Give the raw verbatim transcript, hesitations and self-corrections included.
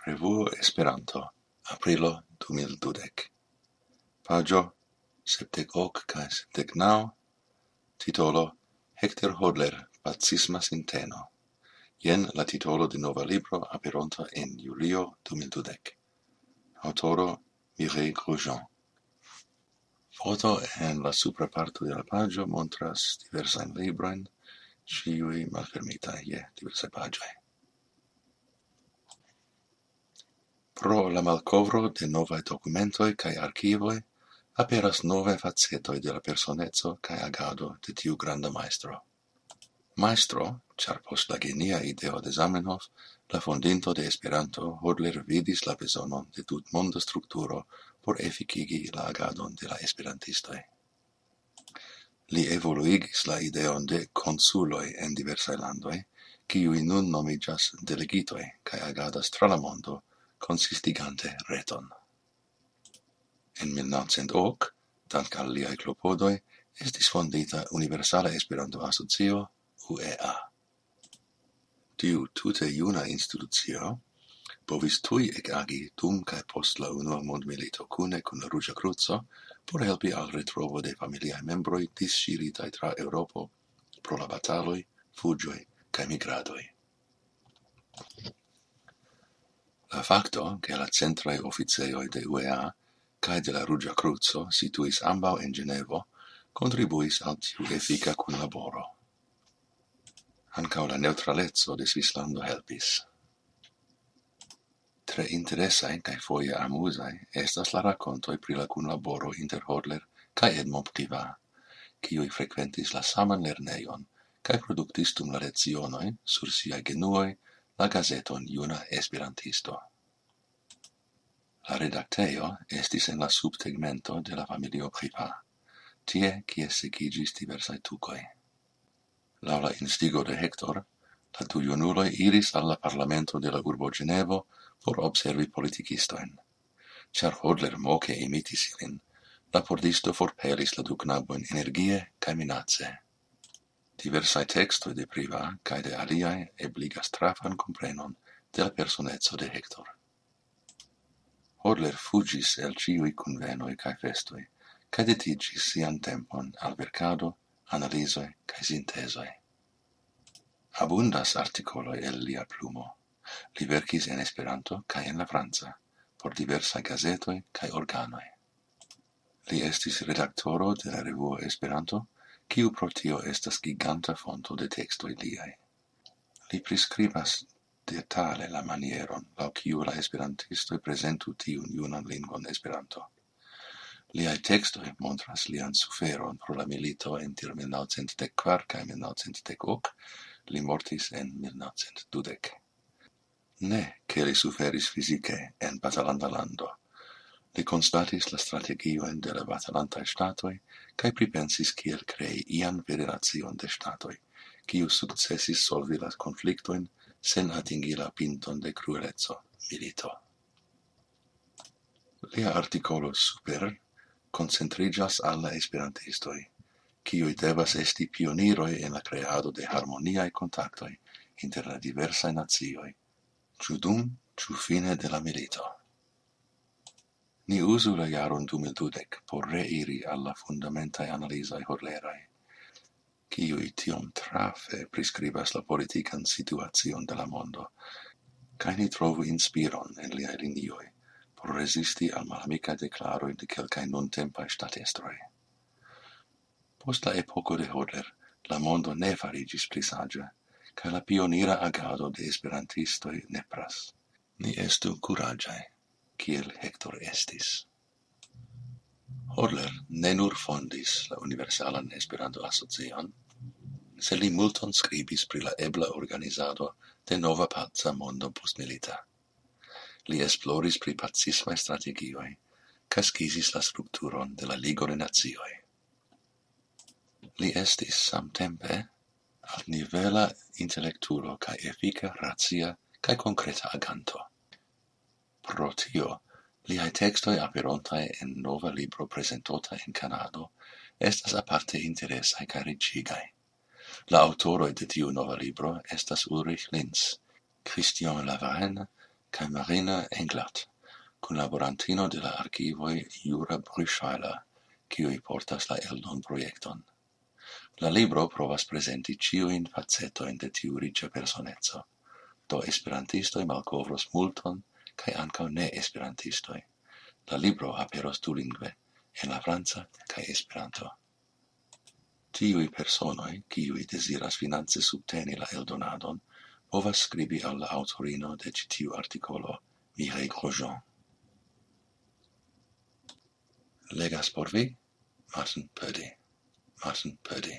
Revuo Esperanto, aprilo du mil dudek. Paĝo sepdek ok kaj sepdek naŭ, titolo Hector Hodler, Pacisma Sinteno. Jen la titolo de nova libro aperonta en julio du mil dudek. Aŭtoro Mireille Grosjean. Foto en la supra parto de la paĝo montras diversajn librojn, ĉiuj malfermitaj je diversaj paĝoj. Pro la malkovro de novaj dokumentoj kaj arkivoj aperas novaj facetoj de la personeco kaj agado de tiu granda majstro. Majstro, ĉar post la genia ideo de Zamenhof, la fondinto de Esperanto, Hodler vidis la bezonon de tutmonda strukturo por efikigi la agadon de la esperantistoj. Li evoluigis la ideon de konsuloj en diversaj landoj, kiuj nun nomiĝas delegitoj kaj agadas tra la mondo, konsistigante reton. En mil naŭcent ok, dank al liaj klopodoj, estis fondita Universala Esperanto-Asocio, U E A. Tiu tute juna institucio povis tuj ekagi dum kaj post la Unua Mondmilito kune kun la Ruĝa Kruco por helpi al retrovo de familiaj membroj disŝiritaj tra Eŭropo pro la bataloj, fuĝoj kaj migradoj. La fakto, ke la centraj oficejoj de U E A kaj de la Ruĝa Kruco situis ambaŭ en Ĝenevo, kontribuis al tiu efika kunlaboro. Ankaŭ la neŭtraleco de Svislando helpis. Tre interesaj kaj foje amuzaj estas la rakontoj pri la kunlaboro inter Hodler kaj Edmond Privat, kiuj frekventis la saman lernejon kaj produktis dum la lecionoj sur siaj genuoj la gazeton Juna Esperantisto. La redaktejo estis en la subtegmento de la familio Privat, tie kie sekiĝis diversaj tukoj. Laŭ la instigo de Hector, la du junuloj iris al la parlamento de la urbo Ĝenevo por observi politikistojn. Ĉar Hodler moke imitis ilin, la pordisto forpelis la du knabojn energie kaj minace. Diversaj tekstoj de Privat kaj de aliaj ebligas trafan komprenon de la personeco de Hector. Hodler fuĝis el ĉiuj kunvenoj kaj festoj, kaj dediĉis sian tempon al verkado, analizoj kaj sintezoj. Abundas artikoloj el lia plumo. Li verkis en Esperanto kaj en la franca, por diversaj gazetoj kaj organoj. Li estis redaktoro de la revuo Esperanto, kiu pro tio estas giganta fonto de tekstoj liaj. Li priskribas detale la manieron, laŭ kiu la esperantistoj prezentu tiun junan lingvon Esperanto. Liaj tekstoj montras lian suferon pro la milito inter mil naŭcent dek kvar kaj mil naŭcent dek ok. Li mortis en mil naŭcent dudek. Ne, ke li suferis fizike en batalanta lando. Li konstatis la strategiojn de la batalantaj ŝtatoj kaj pripensis, kiel krei ian federacion de ŝtatoj, kiu sukcesis solvi la konfliktojn sen atingi la pinton de krueleco, milito. Lia artikolo super koncentriĝas al la esperantistoj, kiuj devas esti pioniroj en la kreado de harmoniaj kontaktoj inter la diversaj nacioj, ĉu dum, ĉu fine de la milito. Ni uzu la jaron du mil dudek por reiri al la fundamentaj analizoj Hodleraj, kiuj tiom trafe priskribas la politikan situacion de la mondo, kaj ni trovu inspiron en liaj linioj por rezisti al malamikaj deklaroj de kelkaj nuntempaj ŝtatestroj. Post la epoko de Hodler, la mondo ne fariĝis pli saĝa, kaj la pionira agado de esperantistoj nepras. Ni estu kuraĝaj, kiel Hector estis. Hodler ne nur fondis la Universalan Esperanto-Asocion, sed li multon skribis pri la ebla organizado de nova paca mondo postmilita. Li esploris pri pacismaj strategioj, kaj skizis la strukturon de la Ligo de Nacioj. Li estis samtempe altnivela intelektulo kaj efika, racia kaj konkreta aganto. Pro tio, liaj tekstoj aperontaj en nova libro prezentota en Kanado estas aparte interesaj kaj riĉigaj. La aŭtoroj de tiu nova libro estas Ulrich Linz, Christian Lavarenne kaj Marina Englert, kunlaborantino de la arkivoj Jura Brüschweiler, kiuj portas la eldonprojekton. La libro provas prezenti ĉiujn facetojn de tiu riĉa personeco. Do esperantistoj malkovros multon, kaj ankaŭ ne-esperantistoj. La libro aperos dulingve, en la franca kaj Esperanto. Tiuj personoj, kiuj deziras finance subteni la eldonadon, povas skribi al la aŭtorino de ĉi tiu artikolo, Mireille Grosjean. Legas por vi, Martin Purdy. Martin Purdy.